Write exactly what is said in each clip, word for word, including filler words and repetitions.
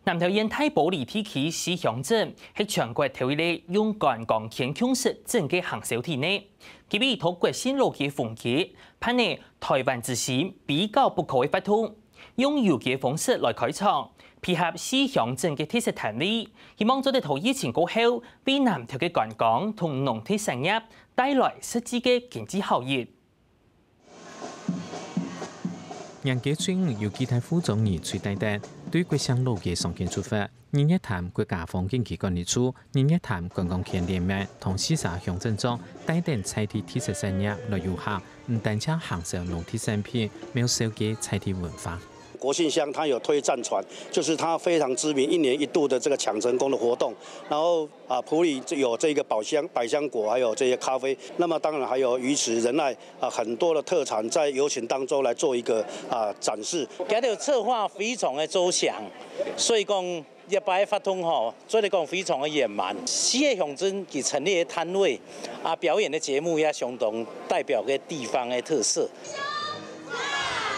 南投縣大埔里地區四鄉鎮係全國頭一个用觀光圈共識整个行銷體呢。佢為討國姓老街風格，辦了台灣之星非搞不可个活動，用遊街方式來開場，配合四鄉鎮个特色攤位，希望做得在疫情過後，為南投个觀光同農特產業帶來實際个經濟效益。 年假初五有幾大戶庄人隨大德，對國姓老街上街出發。日月潭國家風景區管理處、日月潭觀光圈聯盟同四儕鄉鎮長帶等在地特色產業來遊行，毋單淨行銷農特產品，還有紹介在地文化。國姓鄉它有推戰船，就是它非常知名，一年一度的這個搶成功的活動。然後啊，埔里有這個百香百香果，還有這些咖啡。那麼當然還有魚池仁愛 啊，很多的特產在遊行當中來做一個啊展示。佢个策劃非常的周詳，所以講這擺活動吼，做得講非常的圓滿。四个鄉鎮佢陳列的攤位啊，表演的節目也相當代表个地方的特色。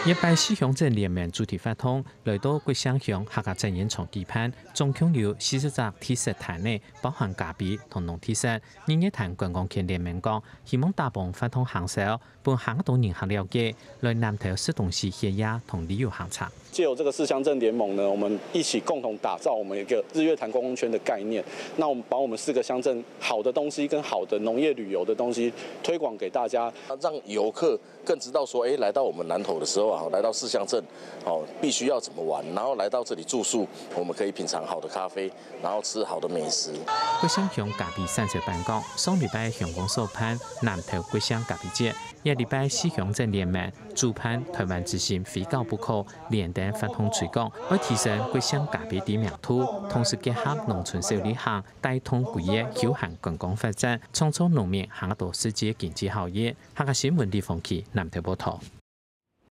這擺四鄉鎮聯盟主題活動來到國姓鄉客家展演場舉辦，總共有四十隻特色攤位，包含咖啡同農特產。日月潭觀光圈聯盟講，希望打幫活動行銷， 分較多人較了解，來南投食東西歇夜同旅遊行程。藉由這個四鄉鎮聯盟呢，我們一起共同打造我們一個日月潭觀光圈的概念。那我們把我們四個鄉鎮好的東西跟好的農業旅遊的東西推廣給大家，讓遊客更知道說，哎，來到我們南投的時候啊，來到四鄉鎮，哦，必須要怎麼玩，然後來到這裡住宿，我們可以品嚐好的咖啡，然後吃好的美食。國姓鄉咖啡產銷班講，上禮拜鄉公所辦南投國姓咖啡節， 這禮拜四鄉鎮聯盟主辦台灣之星非搞不可聯等活動推廣，愛提升國姓咖啡知名度，同時結合農村小旅行，帶動規个休閒觀光發展，創造農民較多實際經濟效益。客家新聞李鳳琪南投報導。